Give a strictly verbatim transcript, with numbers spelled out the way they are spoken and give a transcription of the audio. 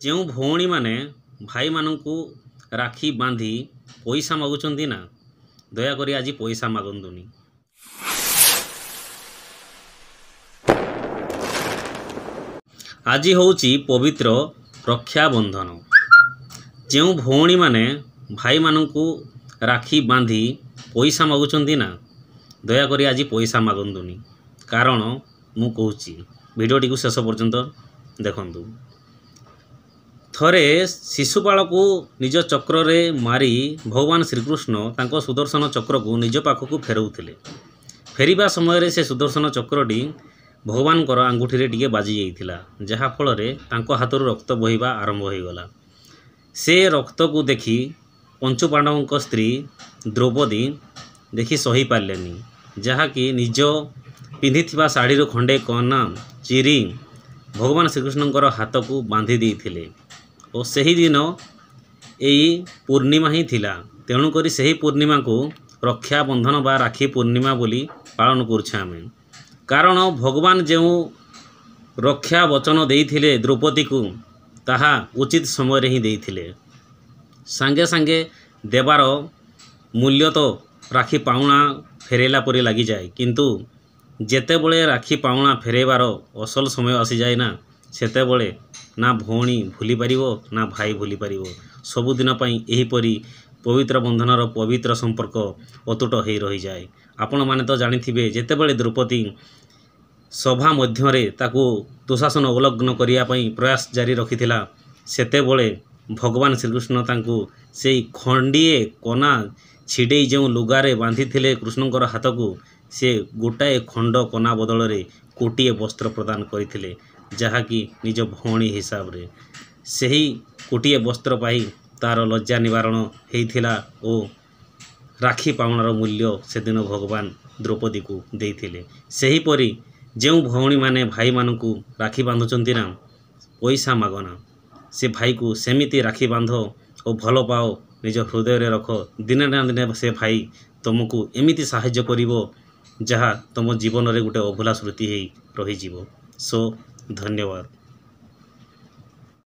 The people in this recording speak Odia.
ଯେଉଁ ଭଉଣୀମାନେ ଭାଇମାନଙ୍କୁ ରାକ୍ଷୀ ବାନ୍ଧି ପଇସା ମାଗୁଛନ୍ତି ନା, ଦୟାକରି ଆଜି ପଇସା ମାଗନ୍ତୁନି। ଆଜି ହେଉଛି ପବିତ୍ର ରକ୍ଷାବନ୍ଧନ। ଯେଉଁ ଭଉଣୀମାନେ ଭାଇମାନଙ୍କୁ ରାକ୍ଷୀ ବାନ୍ଧି ପଇସା ମାଗୁଛନ୍ତି ନା, ଦୟାକରି ଆଜି ପଇସା ମାଗନ୍ତୁନି। କାରଣ ମୁଁ କହୁଛି, ଭିଡ଼ିଓଟିକୁ ଶେଷ ପର୍ଯ୍ୟନ୍ତ ଦେଖନ୍ତୁ। ଥରେ ଶିଶୁପାଳକୁ ନିଜ ଚକ୍ରରେ ମାରି ଭଗବାନ ଶ୍ରୀକୃଷ୍ଣ ତାଙ୍କ ସୁଦର୍ଶନ ଚକ୍ରକୁ ନିଜ ପାଖକୁ ଫେରାଉଥିଲେ। ଫେରିବା ସମୟରେ ସେ ସୁଦର୍ଶନ ଚକ୍ରଟି ଭଗବାନଙ୍କର ଆଙ୍ଗୁଠିରେ ଟିକେ ବାଜି ଯାଇଥିଲା, ଯାହାଫଳରେ ତାଙ୍କ ହାତରୁ ରକ୍ତ ବୋହିବା ଆରମ୍ଭ ହୋଇଗଲା। ସେ ରକ୍ତକୁ ଦେଖି ପଞ୍ଚୁପାଣ୍ଡବଙ୍କ ସ୍ତ୍ରୀ ଦ୍ରୌପଦୀ ଦେଖି ସହିପାରିଲେନି, ଯାହାକି ନିଜ ପିନ୍ଧିଥିବା ଶାଢ଼ୀରୁ ଖଣ୍ଡେ କନା ଚିରି ଭଗବାନ ଶ୍ରୀକୃଷ୍ଣଙ୍କର ହାତକୁ ବାନ୍ଧି ଦେଇଥିଲେ। ଓ ସେହିଦିନ ଏଇ ପୂର୍ଣ୍ଣିମା ହିଁ ଥିଲା, ତେଣୁକରି ସେହି ପୂର୍ଣ୍ଣିମାକୁ ରକ୍ଷାବନ୍ଧନ ବା ରାକ୍ଷୀ ପୂର୍ଣ୍ଣିମା ବୋଲି ପାଳନ କରୁଛେ ଆମେ। କାରଣ ଭଗବାନ ଯେଉଁ ରକ୍ଷା ବଚନ ଦେଇଥିଲେ ଦ୍ରୌପଦୀକୁ, ତାହା ଉଚିତ ସମୟରେ ହିଁ ଦେଇଥିଲେ। ସାଙ୍ଗେ ସାଙ୍ଗେ ଦେବାର ମୂଲ୍ୟ ତ ରାକ୍ଷୀ ପାଉଣା ଫେରାଇଲା ପରି ଲାଗିଯାଏ, କିନ୍ତୁ ଯେତେବେଳେ ରାକ୍ଷୀ ପାଉଣା ଫେରାଇବାର ଅସଲ ସମୟ ଆସିଯାଏ ନା, ସେତେବେଳେ ନା ଭଉଣୀ ଭୁଲିପାରିବ ନା ଭାଇ ଭୁଲିପାରିବ। ସବୁଦିନ ପାଇଁ ଏହିପରି ପବିତ୍ର ବନ୍ଧନର ପବିତ୍ର ସମ୍ପର୍କ ଅତୁଟ ହେଇ ରହିଯାଏ। ଆପଣମାନେ ତ ଜାଣିଥିବେ, ଯେତେବେଳେ ଦ୍ରୌପଦୀ ସଭା ମଧ୍ୟରେ ତାକୁ ଦୁଃଶାସନ ଅବଲଗ୍ନ କରିବା ପାଇଁ ପ୍ରୟାସ ଜାରି ରଖିଥିଲା, ସେତେବେଳେ ଭଗବାନ ଶ୍ରୀକୃଷ୍ଣ ତାଙ୍କୁ ସେଇ ଖଣ୍ଡିଏ କନା ଛିଡ଼େଇ ଯେଉଁ ଲୁଗାରେ ବାନ୍ଧିଥିଲେ କୃଷ୍ଣଙ୍କର ହାତକୁ, ସେ ଗୋଟାଏ ଖଣ୍ଡ କନା ବଦଳରେ କୋଟିଏ ବସ୍ତ୍ର ପ୍ରଦାନ କରିଥିଲେ, ଯାହାକି ନିଜ ଭଉଣୀ ହିସାବରେ। ସେହି କୋଟିଏ ବସ୍ତ୍ର ପାଇ ତା'ର ଲଜ୍ଜା ନିବାରଣ ହେଇଥିଲା ଓ ରାକ୍ଷୀ ପାଉଣାର ମୂଲ୍ୟ ସେଦିନ ଭଗବାନ ଦ୍ରୌପଦୀକୁ ଦେଇଥିଲେ। ସେହିପରି ଯେଉଁ ଭଉଣୀମାନେ ଭାଇମାନଙ୍କୁ ରାକ୍ଷୀ ବାନ୍ଧୁଛନ୍ତି ନା, ପଇସା ମାଗନା, ସେ ଭାଇକୁ ସେମିତି ରାକ୍ଷୀ ବାନ୍ଧ ଓ ଭଲ ପାଅ, ନିଜ ହୃଦୟରେ ରଖ। ଦିନେ ନା ଦିନେ ସେ ଭାଇ ତୁମକୁ ଏମିତି ସାହାଯ୍ୟ କରିବ ଯାହା ତୁମ ଜୀବନରେ ଗୋଟେ ଅଭୁଲା ସ୍ମୃତି ହେଇ ରହିଯିବ। ସୋ ଧନ୍ୟବାଦ।